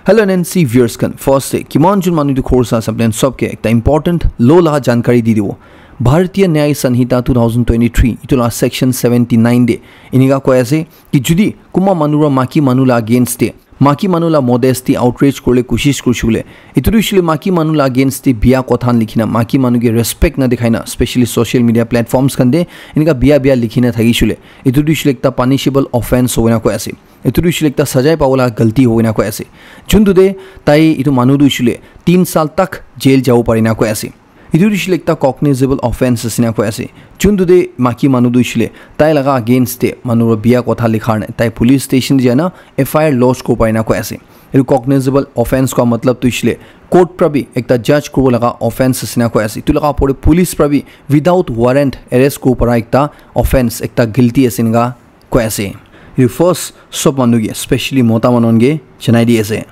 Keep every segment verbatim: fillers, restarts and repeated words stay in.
Hello N N C viewers khan, first te kiman jun manu etu khor sa ase apni khan sob ke ekta important law laga jankari di dibo. Bharatiya Nyaya Sanhita two thousand twenty-three itu laga section seventy-nine te enika koi ase ki judi kunba manu para maki manu laga against te, maki manu laga modesty outrage kurle koshish kurishe koile, itu tu hoishe le maki manu laga against te biya kotha khan likhina maki manu ke respect na dikhaina, specially social media platforms khan te enika biya biya likhina thakishe koile, itu tu hoishe le ekta punishable offense hobo ena koi ase. Etu tu hoishe le ekta sajai pabo laga galti hobo ena koi ase. Juntu te tai etu manu tu hoishe le tin saal tak jail jabo pare ena koi ase. Etu tu hoishe le ekta cognizable offense ase ena koi ase. Juntu te maki manu tu hoishe le tai laga against te manu para biya kotha likha karne tai police station te jai na F I R lodge kuribo pare ena koi ase. Etu cognizable offense koa matlab tu hoishe le court para bi ekta judge kuribo laga offense ase ena koi ase. Etu laga opor te police para bi without warrant arrest kuribo para ekta offense, ekta guilty ase ena koi ase. Etu first sob manu ke, specially mota manu khan ke janai di ase.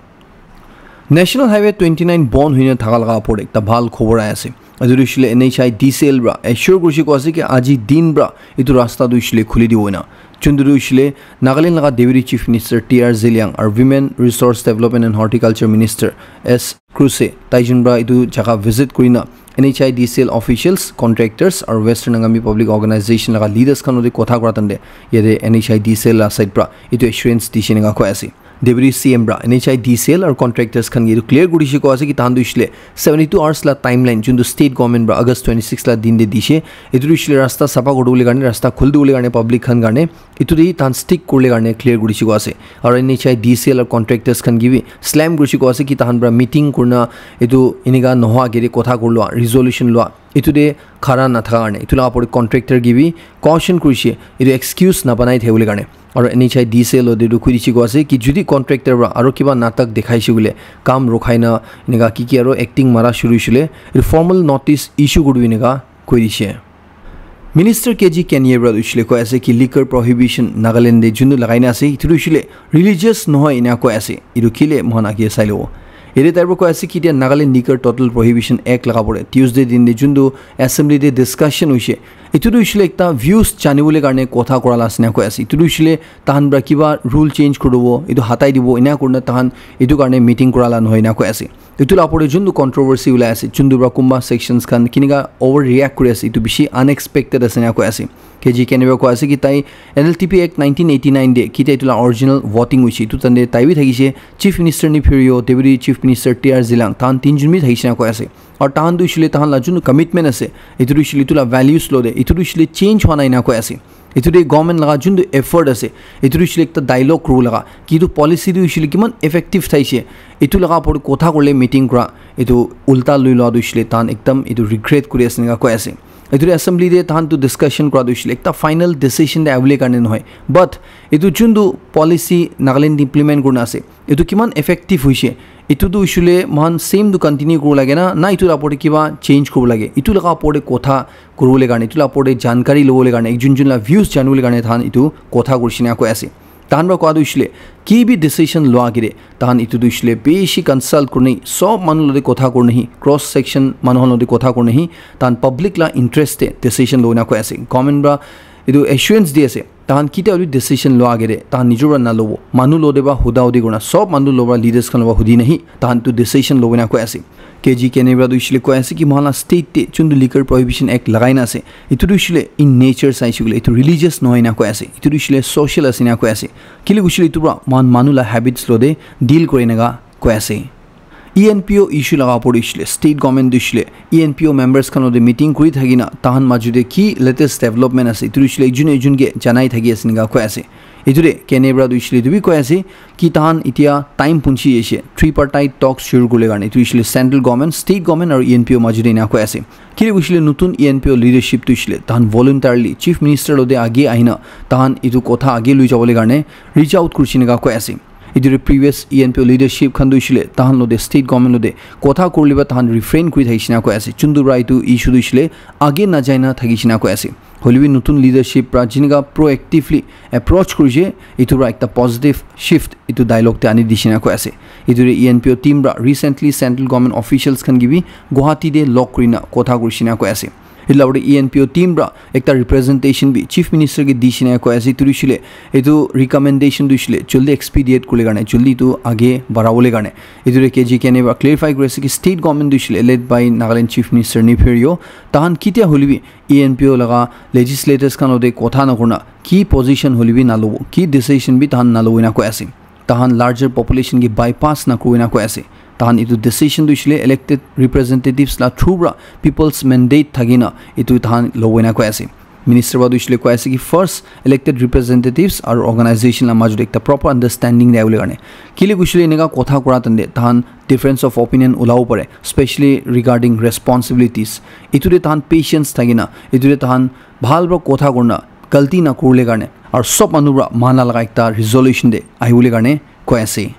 National Highway twenty-nine bon hoina thaka laga opor te ekta bhal khobor ahi ase. Etu tu hoishe le N H I D C L para assure kurishe koi ase ki aji din para etu rasta tu hoishe le khuli dibo ena. Juntu tu hoishe le Nagaland laga Deputy Chief Minister T R Zeliang aru Women Resource Development and Horticulture Minister S Kruse, tai jun para etu jaga visit kurina N H I D C L officials, contractors aru Western Angami Public Organization laga leaders khan lode kotha kura time te yate N H I D C L la side para etu assurance dishe ena koi ase. Deputy C M para N H I D C L aru contractors khan ke etu clear kurishe koi ase ki tahan tu hoishe le seventy-two hours la timeline juntu state government para August twenty-six la din te dishe, etu tu hoishe le rasta sapha kuri dibole karne, rasta khuli dibole karne public khan karne, etu te tahan stick kuribole karne clear kurishe koi ase. Aru N H I D C L aru contractors khan ke bi slam kurishe koi ase ki tahan para meeting kurina etu enika nohoa agey te kotha kuri lua, resolution lua, etu te khara nathaka karne. Etu laga opor te contractor ke bi caution kurishe, etu excuse nabanai thakibole karne. Aru N H I D C L lode tu koi dishe koi ase ki judi contractor para aru kiba natak dikhaishe koile, kam rukhai na enika ki ki aru acting mara shuru hoishe le, etu formal notice issue kuri dibo enika koi dishe. Minister K G Kenie para tu hoishe le koi ase ki liquor prohibition Nagaland te juntu lagai na ase, etu tu hoishe le religious nohoi ena koi ase. Etu kile moikhan age sai lobo. Yate tai para koi ase ki etia Nagaland Liquor Total Prohibition Act laga opor te Tuesday din te juntu assembly te discussion hoishe, etu tu hoishe le ekta views janibole karne kotha kura la ase ena koi ase. Etu tu hoishe le tahan para kiba rule change kuri dibo, etu hatai dibo, ena kurina tahan etu karne meeting kura la nohoi ena koi ase. Etu la opor te juntu controversy ulai ase, juntu para kunba sections khan kinika over react kuri ase, etu bishi unexpected ase ena koi ase. K G Kenie para koi ase ki tai N L T P Act nineteen eighty-nine te kitia etu la original voting hoishe, etu time te tai bi thakishe, Chief Minister Neiphiu Rio, Deputy Chief Minister T R Zeliang, tahan tinjun bi thakishe ena koi ase. Aru tahan tu hoishe le tahan la juntu commitment ase, etu tu hoishe le etu la values lode, etu tu hoishe le change hua nai ena koi ase. Etu te government laga juntu effort ase, etu tu hoishe le ekta dialogue kuribo laga, ki etu policy tu hoishe le kiman effective thaishe, etu laga opor te kotha kurile meeting kura, etu ulta lui lua tu hoishe le tahan ekdam etu regret kuri ase ena koi ase. Etu te assembly te tahan tu discussion kura tu hoishe le ekta final decision te ahibole karne nohoi, but etu juntu policy Nagaland te implement kurina ase, etu kiman effective hoishe, etu tu hoishe le moikhan same tu continue kuribo lage na, na etu la opor te kiba change kuribo lage, etu laga opor te kotha kuribole karne, etu la opor te jankari lobole karne, ekjun jun la views janibole karne tahan etu kotha kurishe ena koi ase. Tahan para koa tu hoishe le ki bi decision lua agey te tahan etu tu hoishe le bishi consult kurina, sob manu lode kotha kurina hi, cross section manu khan lode kotha kurina hi, tahan public la interest te decision lobo ena koi ase. Government para etu assurance di ase, tahan kitia bi decision lua agey te tahan nijor para nalobo, manu lode para huda hudi kurina, sob manu lode para, leaders khan lode para hudi na hi tahan tu decision lobo ena koi ase. K G Kenie para tu hoishe le koi ase ki moikhan la state te juntu Liquor Prohibition Act lagai na ase, etu tu hoishe le in nature saishe koile etu religious nohoi ena koi ase, etu tu hoishe le social ase ena koi ase. Kile hoishe le etu para moikhan manu la habits lode deal kuri ena koi ase. E N P O issue laga opor te hoishe le state government tu hoishe le E N P O members khan lode meeting kuri thaki na tahan majo te ki latest development ase, etu tu hoishe le ekjun ekjun ke janai thaki ase ena koi ase. Etu te Kenie para tu hoishe le etu bi koi ase ki tahan etia time punchi ase, tripartite talks shuru kuribole karne, etu hoishe le central government, state government aru E N P O majo te ena koi ase. Kile hoishe le notun E N P O leadership tu hoishe le tahan voluntarily Chief Minister lode age ahina tahan etu kotha age lui jabole karne reach out kurishe ena koi ase. Etu te previous E N P O leadership khan tu hoishe le tahan lode state government lode kotha kuribole para tahan refrain kuri thakishe ena koi ase. Juntu para etu issue tu hoishe le age najai na thakishe ena koi ase. Hoile bi notun leadership para jinika proactively approach kurishe, etu para ekta positive shift etu dialogue te ani dishe ena koi ase. Etu te E N P O team para recently central government officials khan ke bi Guwahati te log kurina kotha kurishe ena koi ase. Etu la upor te E N P O team pra ekta representation bi Chief Minister ke di shina koi ase, etu hoishe le, etu recommendation tu hoishe le, joldi expedite kule karne, joldi etu age barabole karne. Etu re K G Kane pra clarify kuri ase ki state government tu hoishe le, led by Nagaland Chief Minister Neiphiu Rio, tahan kitia hole bi E N P O laga legislators khan lote kotha na kurna, ki position hole bi na lobo, ki decision bi tahan na lobo ena koi ase. Tahan larger population ke bypass na kurina koi ase. Tahan etu decision tu hoishe le elected representatives la through pra people's mandate thakina etu tahan lobo ena koi ase. Minister pra tu hoishe le koi ase ki first elected representatives aru organization la majot ekta proper understanding de avole karne. Kile hoishe le eneka kotha kura tande tahan difference of opinion ulabo pare, especially regarding responsibilities. Etu de tahan patience thakina, etu de tahan bhal pra kotha kurna, galti na kurle karne, aru sob manu pra mana laga ekta resolution de ahibole karne koi ase.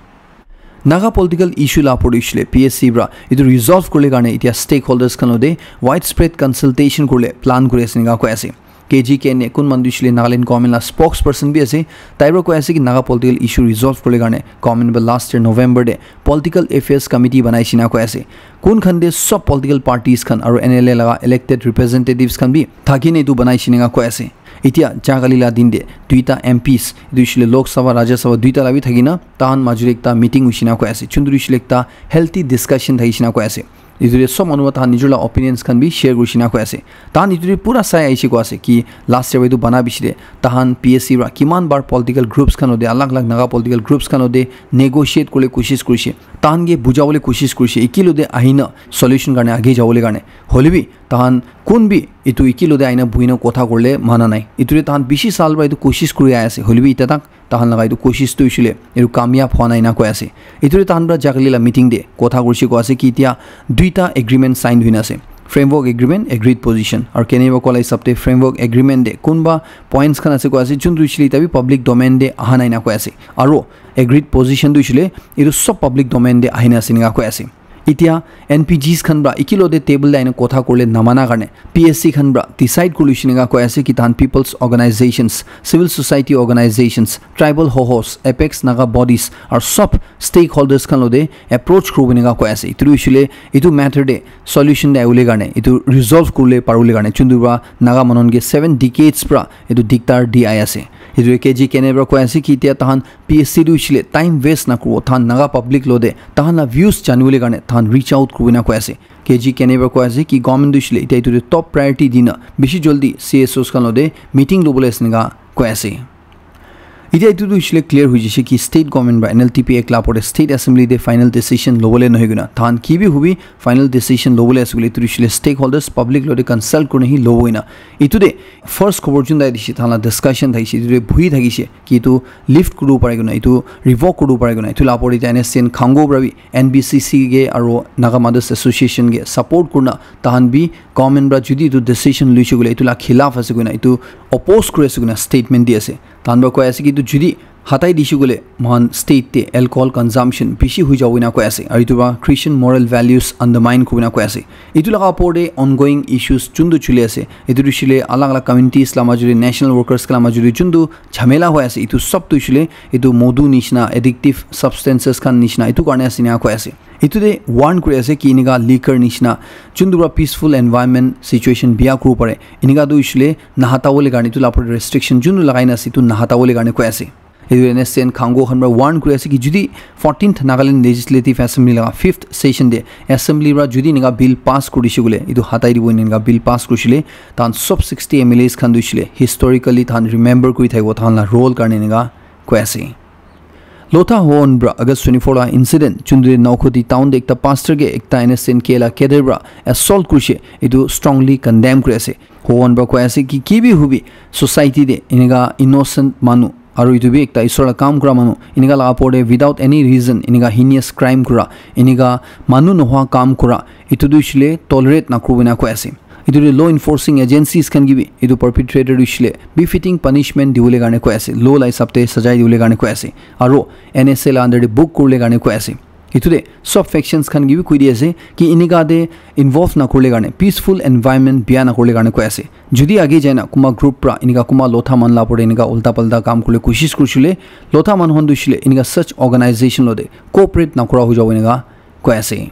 Naga political issue la upor te hoishe le P S C pra etu resolve kurle karne etia stakeholders khan lote widespread consultation kurle plan kuri ase ena koi ase. K G Kane kun manu tu hoishe le Nagaland government la spokesperson bi ase, tai pra koi ase ki Naga political issue resolve kurle karne government pra last year November te political affairs committee banai shina koi ase. Kun khan te sob political parties khan aru N L A laga elected representatives khan bi thakine etu banai shina koi ase. Etia jagali la din te duita M Ps, etu hoishe le Lok Sabha, Rajya Sabha duita la bi thakina, tahan majot ekta meeting hoishina koi ase. Chunduri hoishe le ekta healthy discussion thakishina koi ase. Etu te sob manu tahan nijor la opinions khan bi share kurishina koi ase. Tahan etu te pura sai ahishe koi ase ki last year etu bana bishi te tahan P S C pra kiman bar political groups khan lote, alag alag Naga political groups khan lote negotiate kurle koshish kurishe. Tahan ke bujabole koshish kurishe. Eki lote ahina solution karne age jabole karne. Hole bi tahan kun bi etu eki lote ahina buhina kotha kurle mana nai. Etu te tahan bishi sal pra etu koshish kuri ahi ase. Hole bi eta tak tahan laga etu koshish tu hoishe le etu kamyab hwa nai ena koi ase. Etu te tahan pra jagali la meeting te kotha kurishe koi ase ki etia duita agreement sign hoina ase. Framework agreement, agreed position. Aru kene ba kola hisab te framework agreement te kunba points khan ase koi ase, jun tu hoishe le eta bi public domain te aha nai ena koi ase. Aru agreed position tu hoishe le etu sob public domain te ahina ase ena koi ase. Etia N P Gs khan pra eki lote table te ahina kotha kurle namana karne P S C khan pra decide kurle shina koi ase ki tahan people's organizations, civil society organizations, tribal hohos, apex Naga bodies aru sob stakeholders khan lote approach kuribo ena koi ase. Etu hoishe le etu matter te solution de ahibole karne, etu resolve kuribole paribole karne, chuntu pra Naga manu ke seven decades pra etu diktar di ahi ase. Etu K G Kane pra koi ase ki etia tahan P S C tu hoishe le time waste na kuribo, tahan Naga public lote tahan la views janibole karne tahan reach out kuribo ena koi ase. K G Kane pra koi ase ki government tu hoishe le etia etu te top priority dina bishi joldi C S Os khan lote meeting lobole ase ena koi ase. Etia etu tu hoishe le clear hoi jaise ki state government pra N L T P Act la upor te state assembly te final decision lobole nohoi kena, tahan ki bi hobi final decision lobole ase koile etu tu hoishe le stakeholders public lote consult kurina hi lobo ena. Etu te first khobor jun tai dishe, tahan la discussion thakishe, etu te buhi thakishe ki etu lift kuribo pare kena, etu revoke kuribo pare kena. Etu la upor te N S C N Khango pra bi N B C C ke aru Naga Mothers Association ke support kurina tahan bi government pra jodi etu decision loishe koile etu la khilaf ase koina, etu oppose kuri ase koina statement di ase. Tahan pra koi ase ki etu jodi hatai dishe koile mohan state te alcohol consumption bishi hoi jabo ena koi ase. Aru etu pra Christian moral values undermine kuribo ena koi ase. Etu laga upor te ongoing issues juntu chuli ase, etu tu hoishe le alag alag communities la majot te, national workers khan la majot te juntu jhamela hoi ase, etu sob tu hoishe le etu modu nishina, addictive substances khan nishina, etu karne ase ena koi ase. Etu te warn kuri ase ki enika liquor nishina juntu pra peaceful environment situation biya kuribo pare, enika tu hoishe le nahata bole karne etu la upor te restriction juntu lagai na ase, etu nahata bole karne koi ase. Etu N S C N Khango khan pra warn kuri ase ki jodi fourteenth Nagaland Legislative Assembly laga fifth session te assembly pra jodi enika bill pass kuri dishe koile, etu hatai dibo enika bill pass kurishe le, tahan sob sixty M L As khan tu hoishe le historically tahan remember kuri thakibo tahan la role karne enika koi ase. Lotha Howon pra August twenty-four la incident, juntu Naukhoti town te ekta pastor ke ekta N S C N K la cadre pra assault kurishe, etu strongly condemn kuri ase. Howon pra koi ase ki ki bi hobi society te enika innocent manu aru etu bi ekta isor la kam kura manu, enika la upor te without any reason enika heinous crime kura, enika manu nohwa kam kura, etu tu hoishe le tolerate na kuribo ena koi ase. Etu te law enforcing agencies khan ke bi etu perpetrator tu hoishe le befitting punishment dibole karne koi ase, law la hisab te sajai dibole karne koi ase, aru N S A la under te book kuribole karne koi ase. Etu te sob factions khan ke bi koi di ase ki enika te involve na kuribole karne, peaceful environment biya na kuribole karne koi ase. Jodi age jai na kunba group pra enika kunba lotha manu la upor te enika ulta palta kam kuribole koshish kurishe le, lotha manu khan tu hoishe le enika such organization lote cooperate na kura hoi jabo enika koi ase.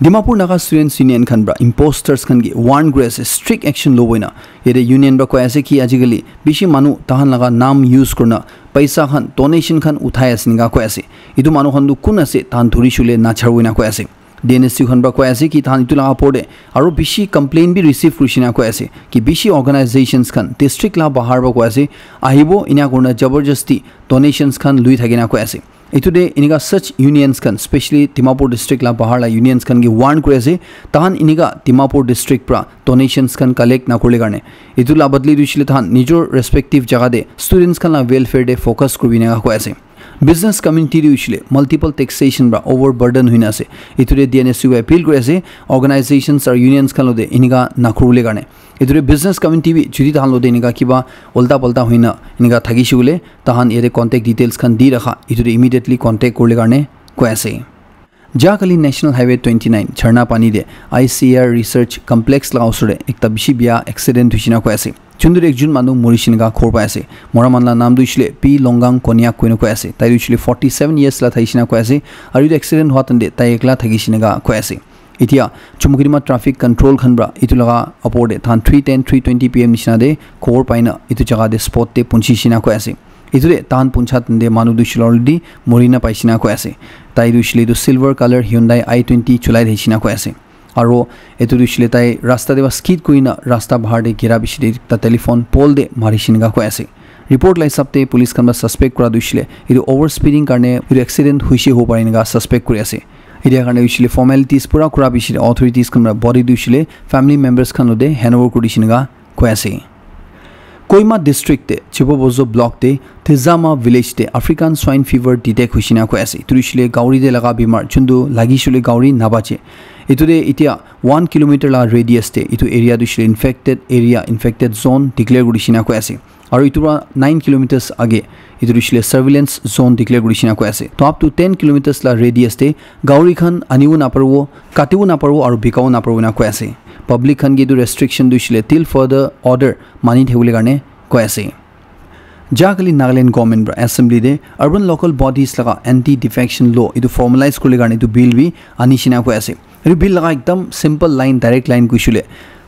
Dimapur Naga Students Union khan pra imposters khan ke warn kuri ase, strict action lobo ena. Yate union pra koi ase ki ajikali bishi manu tahan laga naam use kurina paisa khan, donation khan uthai ase enika koi ase. Etu manu khan tu kun ase, tahan dhuri shule nacharo ena koi ase. D N S U khan pra koi ase ki tahan etu laga opor te aro bishi complaint bi receive kurishe ena koi ase ki bishi organizations khan district la bahar pra koi ase, ahibo ena kurina jabardasti donations khan lui thakina koi ase. Etu te enika such unions khan, specially Dimapur district la bahar la unions khan ke warn kuri ase, tahan enika Dimapur district pra donations khan collect nakurile karne. Etu la badli tu hoishe le tahan nijor respective jaga te students khan la welfare te focus kuribi ena koi ase. Business community tu hoishe le multiple taxation pra overburden hoina ase. Etu te D N S U ke appeal kuri ase, organizations aru unions khan lo te enika nakurile karne. Etu te business community bi jodi tahan lo te enika kiba ulta palta hoina enika thakishe koile, tahan yate contact details khan di rakha, etu te immediately contact kurile karne koi ase. Jahakali National Highway twenty nine Jharna Pani te I C R Research Complex la osor te ekta bishi bia accident hoishe ena koi ase. Chundur ekjun manu morishe ena khobor pai ase. Mora manu la naam tu hoishe le P Longang Konyak koina koi ase. Tai tu hoishe le forty seven years la thaishe ena koi ase. Aru etu accident hua time te tai ekla thakishi ena koi ase. Etia Chumukedima traffic control khan pra etu laga opor te tahan three ten, three twenty P M nishina te khobor paina etu jaga te spot te punchishi ena koi ase. Etu te tahan puncha time te manu tu hoishe le already mori na paishe ena koi ase. Tai tu hoishe le etu silver color Hyundai I twenty cholai thaishe ena koi ase. Aro etu tu hoishe le tai rasta te pra skid kurina rasta bahar te gira bishi te ekta telephone pole te marishe ena koi ase. Report la hisab te police khan pra suspect kura tu hoishe le etu overspeeding karne etu accident hoishe hobo pare ena suspect kuri ase. Etia karne hoishe le formalities pura kura bishi te authorities khan pra body tu hoishe le family members khan lo te handover kuri dishe ena koi ase. Kohima district te Chibobozo block te Tizama village te African swine fever detect hoishe ena koi ase. Etu tu hoishe le gauri te laga bimar chundu lagi shule gauri nabache. Etu te etia one kilometer la radius te etu area tu hoishe le infected area, infected zone declare kuri dishe ena koi ase. Aru etu pra nine kilometers age etu tu hoishe le surveillance zone declare kuri dishe ena koi ase. To up to ten kilometers la radius te gauri khan anibo naparibo, katibo naparibo aru bikabo naparibo ena koi ase. Public khan ke etu restriction tu hoishe le till further order mani thakibole karne koi ase. Jahakali Nagaland government pra assembly te urban local bodies laga anti defecation law etu formalize kuribole karne etu bill bi anishe ena koi ase. Etu bill laga ekdam simple line, direct line koishe le,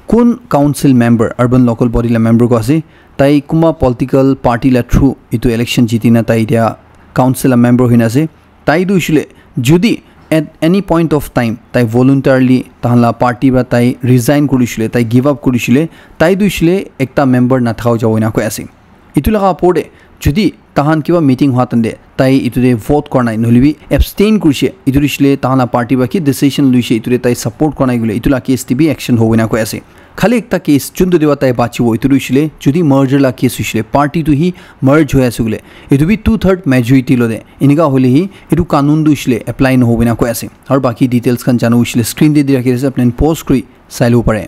kun council member, urban local body la member ko ase, tai kunba political party la through etu election jiti na tai etia council la member hoina ase, tai tu hoishe le jodi at any point of time tai voluntarily tahan la party pra tai resign kuri dishe le, tai give up kuri dishe le, tai tu hoishe le ekta member nathaka jabo ena koi ase. Etu laga opor te jodi tahan kiba meeting hua time te tai etu te vote kora nai, nohoile bi abstain kurishe, etu tu hoishe le tahan la party pra ki decision luishe, etu te tai support kora nai koile, etu la case te bi action hobo ena koi ase. Khali ekta case, chundu te pra tai bachibo, etu tu hoishe le jodi merger la case hoishe le, party tu hi merge hoi ase koile, etu bi two third majority lo te, enika hoile hi etu kanun tu hoishe le apply nohobo ena koi ase. Aru baki details khan jano hoishe le screen te di rakhi ase, apni khan pause kuri sai lobo pare.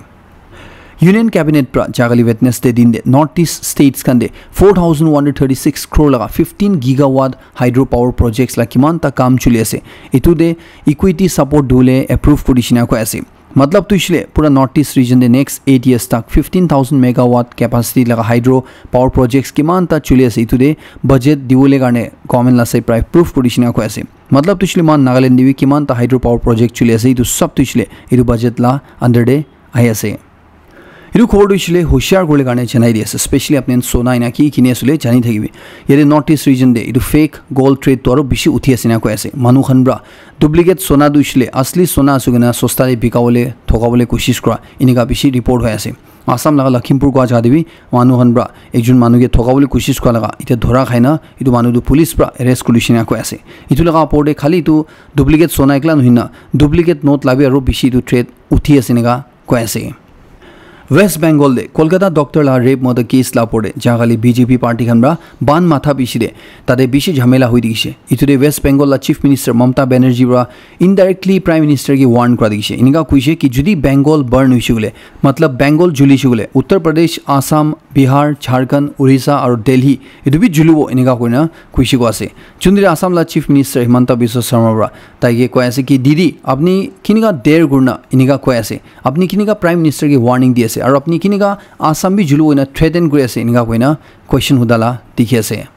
Union Cabinet pra jahakali Wednesday din te North East states khan te four thousand one hundred thirty six crore laga fifteen gigawatt hydro power projects la kiman ta kam chuli ase, etu te equity support dibole approve kuri dishe ena koi ase. Matlab tu hoishe le pura North East region te next eight years tak fifteen thousand megawatt capacity laga hydro power projects kiman ta chuli ase, etu te budget dibole karne government la side pra approve kuri dishe ena koi ase. Matlab tu hoishe le moikhan Nagaland te bi kiman ta hydro power project chuli ase, etu sab tu hoishe le etu budget la under te ahi ase. Etu khobor tu hoishe le hoshiar kuribole karne janai di ase, specially apni khan sona ena ki kini ase koile jani thakibi. Yate North East region te etu fake gold trade tu aru bishi uthi ase ena koi ase. Manu khan pra duplicate sona tu hoishe le asli sona ase koina sosta te bikabole, thokabole koshish kura, enika bishi report hoi ase. Assam laga Lakhimpur kua jaga te bi manu khan pra ekjon manu ke thokabole koshish kura laga etia dhora khai na etu manu tu police pra arrest kuri dishe ena koi ase. Etu laga opor te khali etu duplicate sona ekla nohoi na duplicate note la bi aru bishi etu trade uthi ase enika koi ase. West Bengal te Kolkata doctor la rape murder case la opor te jahakali B J P party khan pra ban matha bishi te tate bishi jhamela hoi dikhishe. Etu te West Bengal la Chief Minister Mamata Banerjee pra indirectly Prime Minister ke warn kura dikhishe. Enika koishe ki jodi Bengal burn hoishe koile, matlab Bengal julishe koile, Uttar Pradesh, Assam, Bihar, Jharkhand, Orissa aru Delhi etu bi julibo enika koina koishe koi ase. Chundri Assam la Chief Minister Himanta Biswa Sarma pra tai ke koi ase ki, "Didi, apni kinika der kurina enika koi ase? Apni kinika Prime Minister ke warning di ase? Aru apni kinika Assam bi julibo ena threaten kuri ase?" Enika koina question huda la dikhi ase.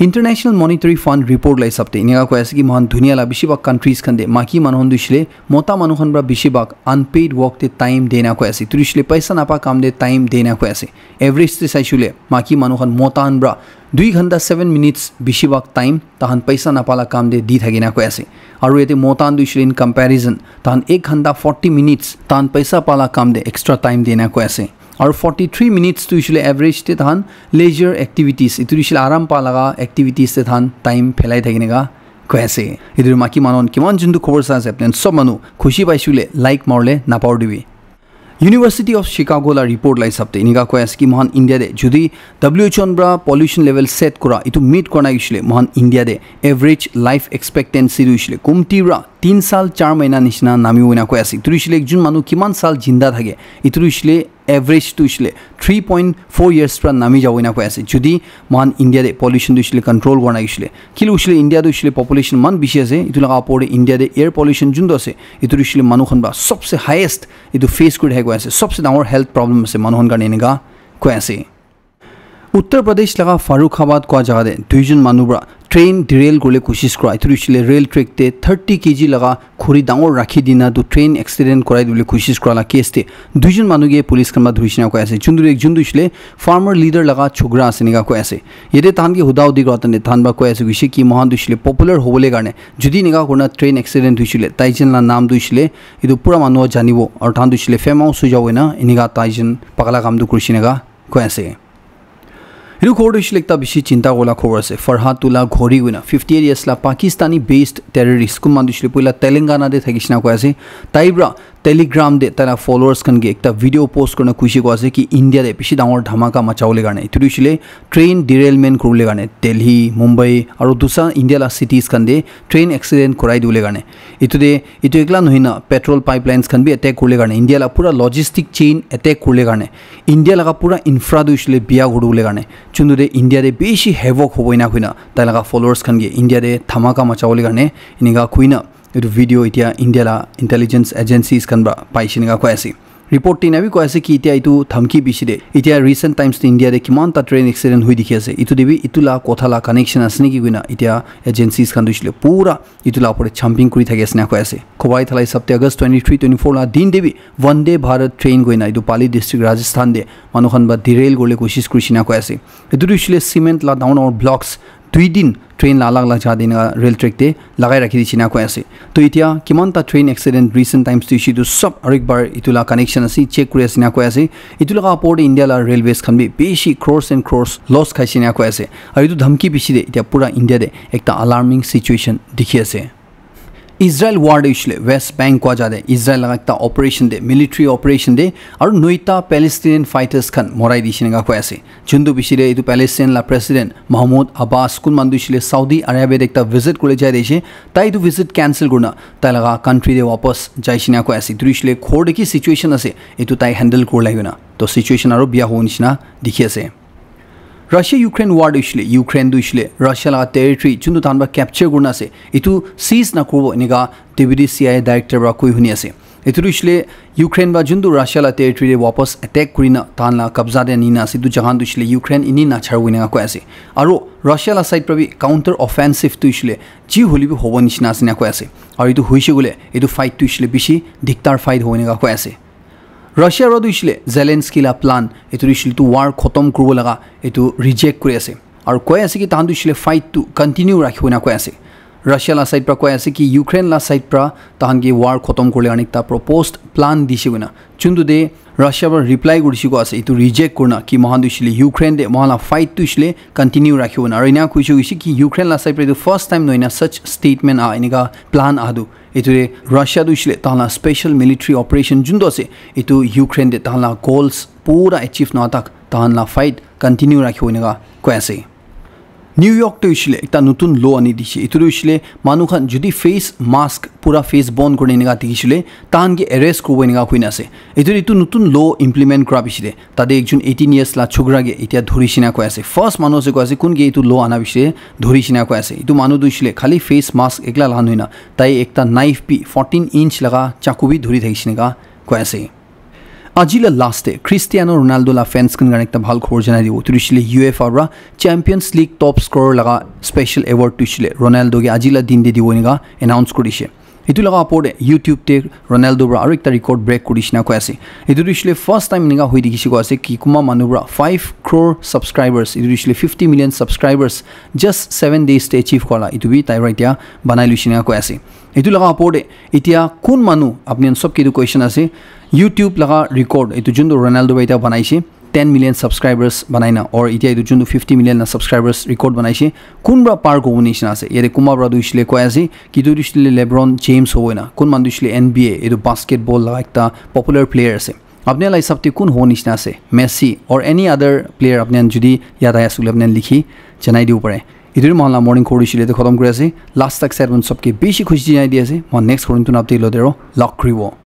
International Monetary Fund report la hisab te enika koi ase ki mohan dunia la bishi bhag countries khan te maki manu khan tu hoishe le mota manu khan pra bishi bhag unpaid work te time de na koi ase. Etu tu hoishe le paisa napa kam te time de na koi ase. Average te saishe le maki manu khan mota khan pra dui ghanta seven minutes bishi bhag time tahan paisa napa la kam te di thaki na koi ase. Aru yate mota khan tu hoishe le in comparison tahan ek ghanta forty minutes tahan paisa pa la kam te extra time de na koi ase. Aru forty three minutes tu hoishe le average te tahan leisure activities, etu tu hoishe le aram pa laga activities te tahan time phelai thaki na koi ase. Etu tu maki manu khan kiman juntu khobor sa ase, apni khan sob manu khushi paishe le like maribole napahori dibi. University of Chicago la report la hisab te enika koi ase ki mohan India te jodi W H O pra pollution level set kura etu meet kura na hoishe le mohan India te average life expectancy tu hoishe le kumti pra tin sal char mahina nishina nami bo ena koi ase. Etu tu hoishe le ekjon manu kiman sal jinda thake, etu tu hoishe le average tu hoishe le three point four years pra nami jabo ena koi ase. Jodi mohan India te pollution tu hoishe le control kura na hoishe le, kile hoishe le India tu hoishe le population man bishi ase, etu laga opor te India te air pollution juntu ase, etu tu hoishe le manu khan pra sobse highest etu face kuri thaki koi ase, sobse dangor health problem ase manu khan karne enika koi ase. Uttar Pradesh laga Farrukhabad kua jaga te duijon manu pra train derail kuribole koshish kura, etu tu hoishe le rail track te thirty K G laga khuri dangor rakhi dina tu train accident kurai dibole koshish kura la case te duijon manu ke police khan pra dhuri shina koi ase. Juntu tu ekjon tu hoishe le farmer leader laga chokra ase enika koi ase. Yate tahan ke huda hudi kura tane tahan pra koi ase hoishe ki mohan tu hoishe le popular hobole karne jodi enika kurina train accident hoishe le taijon la naam tu hoishe le etu pura manu janibo aru tahan tu hoishe le famous hoi jabo ena enika taijon pakala kam tu kuri shina koi ase. Etu khobor tu hoishe le ekta bishi chinta kuribole khobor ase. Farhatullah Ghori koina fifty eight years la Pakistani based terrorist, kunba tu hoishe le poila Telangana te thaki shina koi ase. Tai pra Telegram te tai la followers khan ke ekta video post kurina koishe koi ase ki India te bishi dangor dhamaka machabole karne, etu tu hoishe le train derailment kuribole karne Delhi, Mumbai aru dusra India la cities khan te train accident kurai dibole karne. Etu te etu ekla nohoi na petrol pipelines khan bi attack kuribole karne, India la pura logistic chain attack kuribole karne, India laga pura infra tu hoishe le biya kuri dibole karne, juntu te India te bishi havoc hobo ena koina tai laga followers khan ke India te dhamaka machabole karne enika koina etu video etia India la intelligence agencies khan pra paishe enika koi ase. Report te ena bi koi ase ki etia etu dhamki bishi de etia recent times te India te kiman ta train accident hoi dikhi ase, etu te bi etu la kotha la connection ase neki koina etia agencies khan tu hoishe le pura etu la opor te jumping kuri thaki ase ena koi ase. Khobor ahi thala hisab te August twenty three twenty four la din te bi Vande Bharat train koina etu Pali district Rajasthan te manu khan pra derail kuribole koshish kuri shina koi ase. Etu tu hoishe le cement la dangor dangor blocks dui din train la alag alag jaga te enika rail track te lagai rakhi di shina koi ase. To etia kiman ta train accident recent times te hoishe etu sob aru ekbar etu la connection ase check kuri ase ena koi ase. Etu laga opor te India la railways khan bi bishi crores and crores loss khai shina koi ase. Aru etu dhamki bishi de etia pura India te ekta alarming situation dikhi ase. Israel war te hoishe le West Bank kua jaga te Israel laga ekta operation te, military operation te aru noita Palestinian fighters khan morai di shina koi ase. Juntu bishi de etu Palestine la president Mahmoud Abbas kunba tu hoishe le Saudi Arabia te ekta visit kuribole jai di ase, tai etu visit cancel kurina tai laga country te wapas jai shina koi ase. Etu tu hoishe le ghor te ki situation ase etu tai handle kuribole koina, to situation aru biya hobo nishina dikhi ase. Russia Ukraine war tu hoishe le Ukraine tu hoishe le Russia laga territory juntu tahan pra capture kurina ase etu seize nakuribo enika deputy C I A director pra koi huni ase. Etu tu hoishe le Ukraine pra juntu Russia la territory te wapas attack kurina tahan la kabza te anina ase, etu jaga tu hoishe le Ukraine eni nacharibo enika koi ase. Aru Russia la side pra bi counter offensive tu hoishe le ji hoile bi hobo nishina ase ena koi ase. Aru etu hoishe koile etu fight tu hoishe le bishi diktar fight hobo enika koi ase. Russia pra tu hoishe le Zelensky la plan etu tu hoishe le tu war khotom kuribo laga etu reject kuri ase. Aru koi ase ki tahan tu hoishe le fight tu continue rakhibo ena koi ase. Russia la side pra koi ase ki Ukraine la side pra tahan ke war khotom kuribole karne ekta proposed plan dishe koina. Juntu te Russia pra reply kurishe koi ase, etu reject kurina ki mohan tu hoishe le Ukraine te mohan la fight tu hoishe le continue rakhibo ena. Aru ena koishe koishe ki Ukraine la side pra etu first time nohoi na such statement aha, enika plan aha tu. Etu te Russia tu hoishe le tahan la special military operation juntu ase, etu Ukraine te tahan la goals pura achieve nohoa tak tahan la fight continue rakhibo enika koi ase. New York te hoishe le ekta notun law ani dishe. Etu tu hoishe le manu khan jodi face mask pura face bon kurina enika dikhishe le tahan ke arrest kuribo enika koina ase. Etu, etu notun law implement kura piche te tate ekjon eighteen years la chokra ke etia dhuri shina koi ase. First manu ase koi ase kun ke etu law ana piche te dhuri shina koi ase. Etu manu tu hoishe le khali face mask ekla laga nohoi na tai ekta knife bi fourteen inch laga chaku bi dhuri thakishe enika koi ase. Aji la last te Cristiano Ronaldo la fans khan karne ekta bhal khobor janai dibo. Etu hoishe le UEFA para Champions League top scorer laga special award tu hoishe le Ronaldo ke aji la din te dibo enika announce kuri dishe. Etu laga opor te YouTube te Ronaldo para aru ekta record break kuri dishe na koi ase. Etu tu hoishe le first time enika hoi dikhi se koi ase ki kunba manu para five crore subscribers, etu tu hoishe le fifty million subscribers just seven days te achieve kora la, etu bi tai para etia banai loishe na koi ase. Etu laga opor te etia kun manu, apni khan sob ke etu question ase, YouTube laga record, etu juntu Ronaldo para etia banaishe, ten million subscribers banaina, or etia etu juntu fifty million la subscribers record banaishe, kun para par kobo nishina ase? Yate kunba para tu hoishe le koi ase ki etu tu hoishe le LeBron James hobo na, kun manu tu hoishe le N B A, etu basketball laga ekta popular player ase. Apni khan la hisab te kun hobo nishina ase? Messi or any other player apni khan jodi yad ahi ase koile apni khan likhi janai dibo pare. Etu tu moikhan la morning khobor hoishe le etu khatam kuri ase. Last tak sai apni khan sob ke bishi khushi janai di ase. Moikhan next khobor notun update loite aro log kuribo.